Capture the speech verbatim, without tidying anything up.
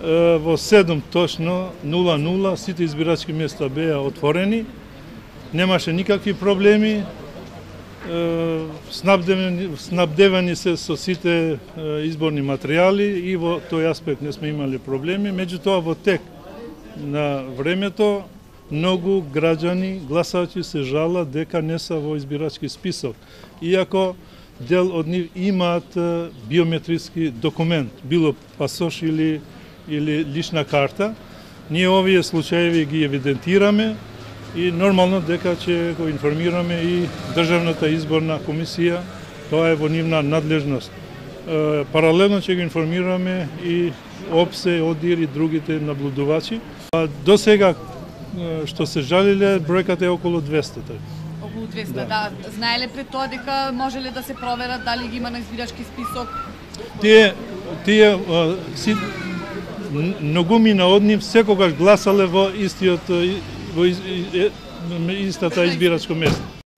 во седум точно нула нула сите избирачки места беа отворени. Немаше никакви проблеми. Снабдевани, снабдевани се со сите изборни материјали и во тој аспект не сме имали проблеми. Меѓутоа во тек на времето многу граѓани, гласачи се жала дека не се во избирачки список. Иако дел од нив имаат биометриски документ, било пасош или или лична карта. Ние овие случаеви ги евидентираме и нормално дека ќе го информираме и Државната изборна комисија, тоа е во нивна надлежност. Е, паралелно ќе го информираме и ОПСЕ, ОДИР и другите наблюдувачи. А до сега што се жалиле, бројката е околу двесте. Околу двесте, да. да. Знаеле пред тоа дека можеле да се проверат дали ги има на избирачки список? Тие, тие си, многумина од нив секогаш гласале во истиот во истата избирачко место.